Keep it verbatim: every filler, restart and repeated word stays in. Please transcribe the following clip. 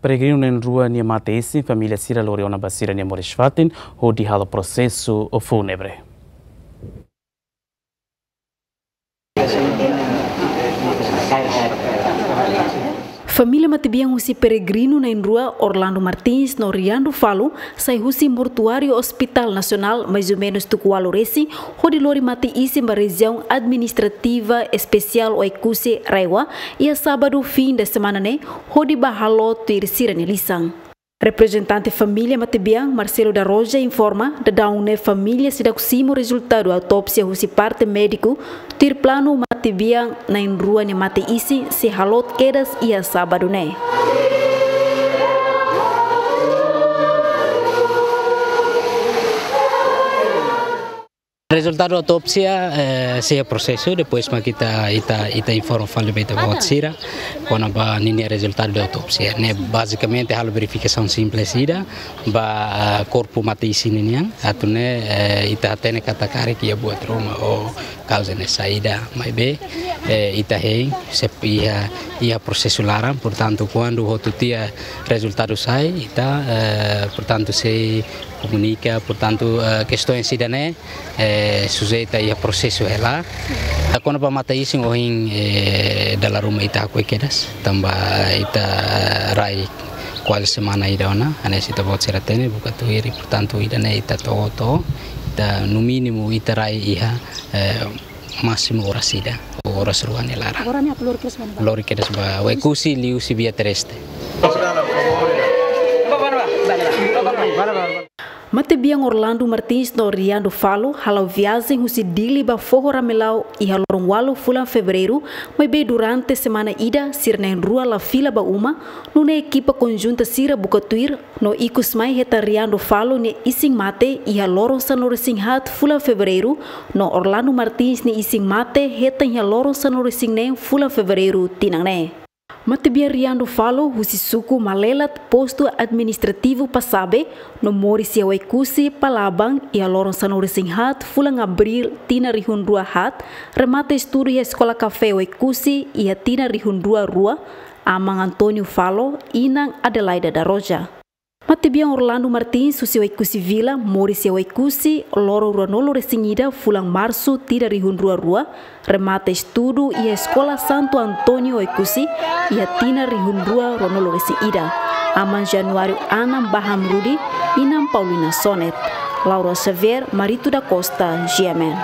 peregrinu na'in-rua nia mate-isin, família sira lori ona ba sira-nia moris-fatin hodi halo prosesu fúnebre. Família matebian husi peregrinu na'in-rua Orlando Martins no Riandro Falo sai husi mortuáriu Hospital Nasionál, mais ou menus tuku ualu resin, hodi lori mate-isin ba Rejiaun Administrativa Espesiál Oekusi, RAEOA, iha sábadu fin de semana ne'e, hodi bá halo tuir sira-nia lisan. Reprezentante família matebian, Marcelo da Roja, informa, daudaun ne'e família seidauk simu rezultadu autópsia husi parte médiku, tuir planu matebian na'in-rua nia mate-isin sei halo kedas iha sábadu ne'e. Rezultadu autópsia, eh, sei prosesu, depois mak ita, ita, ita informa fali ba ita-boot sira kona-ba ninia rezultadu de autópsia. Ne'e bazikamente halo verifikasaun simples ida ba, ah, korpu mate-isin ninian, atu nune'e, eh, ita hatene katak karik iha buat ruma ou kauza ne'e saida, maibé, eh, ita hein, se iha, iha prosesu laran, portantu, kuandu hotu tiha rezultadu sai, ita, eh, portantu, sei komunika, portantu, eh, kestaun sira-ne'e, eh, sujeita iha prosesu hela. Kona-ba mate-isin ohin, eh, dala ruma ita hakoi kedas, tanba ita, eh, rai kuaze semana ida ona, hanesan ita-boot sira hatene, buka tuir, portantu, ida-ne'e ita to'o, to'o, ita no mínimu ita rai iha, eh, másimu oras ida, oras rua nia laran. Agora ne'e atu lori kedas ba ne'ebá? Lori kedas ba Oekusi liuhusi via terrestre. Matebian Orlando Martins no Riandro Falo hala'o viajen husi Dili ba Foho Ramelau iha loron ualu fulan Fevereiru, maibé durante semana ida sira na'in-rua la fila ba uma, nune'e ekipa konjunta sira buka tuir, no ikus mai hetan Riandro Falo nia isin mate iha loron sanulu-resin-haat fulan Fevereiru, no Orlando Martins nia isin mate hetan iha loron sanulu-resin-neen fulan Fevereiru tinan ne'e. Matebian Riandro Falo husi suku Malelat, postu administrativu Pasabe, no moris iha Oekusi, Palaban, iha loron sanulu-resin-haat fulan Abríl tinan rihun rua haat, remata estudu iha Eskola Kafé Oekusi iha tinan rihun rua rua, aman António Falo, inan Adelaida da Roja. Matebian Orlando Martins husi Oekusi Vila, moris iha Oekusi, loron ruanulu-resin-ida fulan Marsu tinan rihun rua rua, remata estudu iha Eskola Santo António Oekusi iha tinan rihun rua ruanulu-resin-ida. Aman Januário Anam Baham Rudi, inan Paulina Sonet. Laura Xavier, Marito da Costa, G M N.